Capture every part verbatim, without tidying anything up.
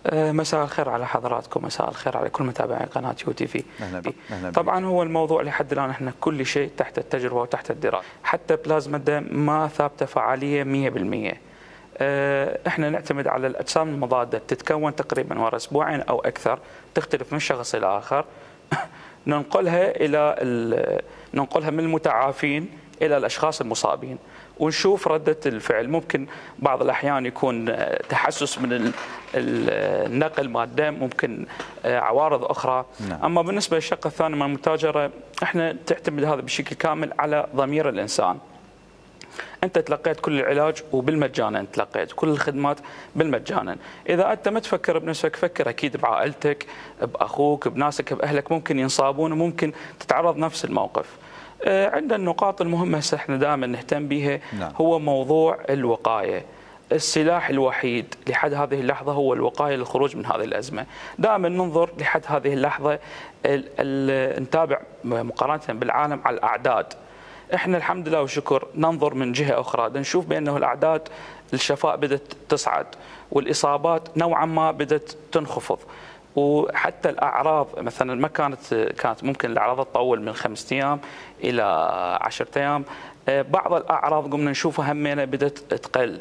آه، مساء الخير على حضراتكم، مساء الخير على كل متابعي قناة يو تي في. أهلا بك. أهلا بك. طبعا هو الموضوع لحد الآن احنا كل شيء تحت التجربة وتحت الدراسة، حتى بلازما الدم ما ثابتة فعالية مئة بالمئة. آه، احنا نعتمد على الأجسام المضادة، تتكون تقريبا ورا أسبوعين أو أكثر، تختلف من شخص إلى آخر. ننقلها إلى ننقلها من المتعافين إلى الأشخاص المصابين ونشوف ردة الفعل. ممكن بعض الأحيان يكون تحسس من النقل مال الدم، ممكن عوارض أخرى. نعم. أما بالنسبة للشق الثاني من المتاجرة، احنا تعتمد هذا بشكل كامل على ضمير الإنسان. أنت تلقيت كل العلاج وبالمجان، أنت تلقيت كل الخدمات بالمجانا. إذا أنت ما تفكر بنفسك، فكر أكيد بعائلتك، بأخوك، بناسك، بأهلك ممكن ينصابون وممكن تتعرض نفس الموقف. عندنا النقاط المهمة هسه احنا دائما نهتم بها. نعم. هو موضوع الوقاية. السلاح الوحيد لحد هذه اللحظة هو الوقاية للخروج من هذه الأزمة. دائما ننظر لحد هذه اللحظة ال ال نتابع مقارنة بالعالم على الأعداد. احنا الحمد لله والشكر ننظر من جهة أخرى، نشوف بأنه الأعداد الشفاء بدأت تصعد والإصابات نوعا ما بدأت تنخفض، وحتى الأعراض مثلا ما كانت كانت ممكن الأعراض تطول من خمسة أيام إلى عشرة أيام. بعض الأعراض قمنا نشوفها همينة بدأت تقل.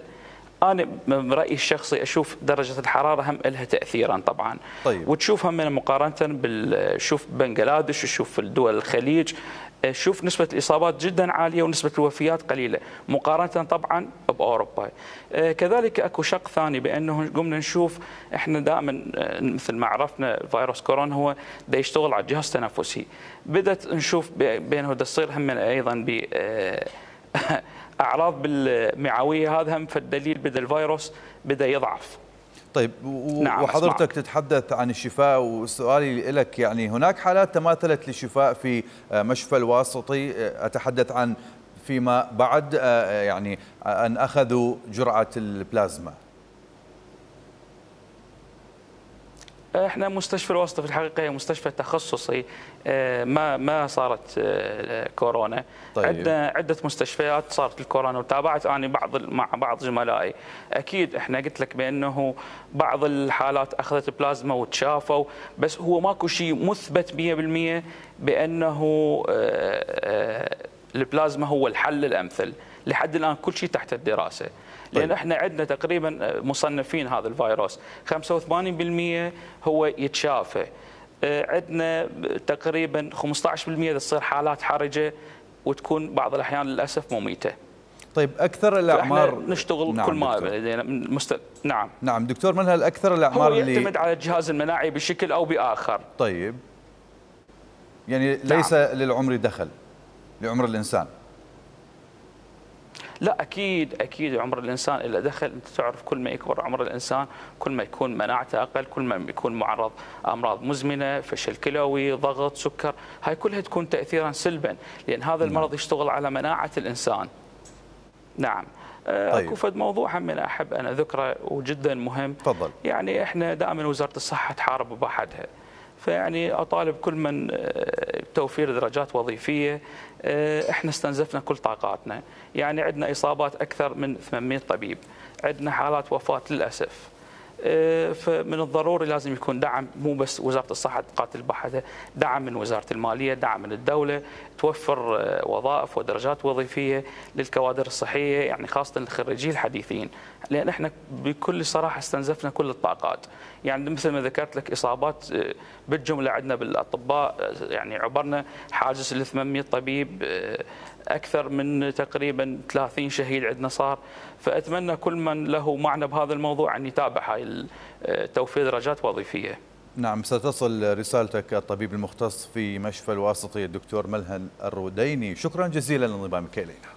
أنا من رأيي الشخصي أشوف درجة الحرارة هم لها تأثيرا طبعا. طيب. وتشوف همينة مقارنة بالشوف بنغلاديش وشوف في الدول الخليج، شوف نسبة الإصابات جدا عالية ونسبة الوفيات قليلة مقارنة طبعا بأوروبا. كذلك أكو شق ثاني بأنه قمنا نشوف إحنا دائما مثل ما عرفنا فيروس كورونا هو دا يشتغل على الجهاز التنفسي. بدأت نشوف بأنه دا تصير هم أيضا ب أعراض بالمعوية، هذا هم فالدليل بدأ الفيروس بدأ يضعف. طيب، نعم، وحضرتك أسمعك. تتحدث عن الشفاء، وسؤالي لك يعني هناك حالات تماثلت للشفاء في مشفى الواسطي، أتحدث عن فيما بعد يعني أن أخذوا جرعة البلازما. احنا مستشفى الواسطة في الحقيقة هي مستشفى تخصصي، ما ما صارت كورونا. طيب. عندنا عدة مستشفيات صارت الكورونا، وتابعت أنا بعض مع بعض زملائي. أكيد احنا قلت لك بأنه بعض الحالات أخذت بلازما وتشافوا، بس هو ماكو شيء مثبت مئة بالمئة بأنه البلازما هو الحل الأمثل. لحد الآن كل شيء تحت الدراسة. لأن احنا عندنا تقريبا مصنفين هذا الفيروس خمسة وثمانين بالمئة هو يتشافى، عندنا تقريبا خمسة عشر بالمئة تصير حالات حرجة وتكون بعض الأحيان للأسف مميتة. طيب، أكثر الأعمار نشتغل نعم كل ما دكتور. لدينا مست... نعم نعم دكتور منهل، أكثر الأعمار هو اللي يعتمد على الجهاز المناعي بشكل أو بآخر. طيب، يعني ليس نعم. للعمر دخل، لعمر الإنسان. لا، اكيد اكيد عمر الانسان له دخل. انت تعرف كل ما يكبر عمر الانسان كل ما يكون مناعته اقل، كل ما يكون معرض امراض مزمنه، فشل كلوي، ضغط، سكر، هاي كلها تكون تاثيرا سلبا، لان هذا المرض يشتغل على مناعه الانسان. نعم. طيب. اكو فد موضوع هم أنا احب انا ذكره وجدا مهم. تفضل. يعني احنا دائما وزاره الصحه تحارب بحدها، فيعني اطالب كل من توفير درجات وظيفيه. احنا استنزفنا كل طاقاتنا، يعني عندنا اصابات اكثر من ثمانمئة طبيب، عندنا حالات وفاه للاسف. فمن الضروري لازم يكون دعم، مو بس وزاره الصحه تقاتل بحدها، دعم من وزاره الماليه، دعم من الدوله، توفر وظائف ودرجات وظيفيه للكوادر الصحيه، يعني خاصه الخريجين الحديثين، لان احنا بكل صراحه استنزفنا كل الطاقات. يعني مثل ما ذكرت لك اصابات بالجمله عندنا بالاطباء، يعني عبرنا حاجز ال ثمانمئة طبيب، اكثر من تقريبا ثلاثين شهيد عندنا صار. فاتمنى كل من له معنى بهذا الموضوع ان يتابع هاي توفير درجات وظيفيه. نعم، ستصل رسالتك الطبيب المختص في مشفى الواسطي الدكتور ملهل الروديني. شكرا جزيلا لانضمامك الينا.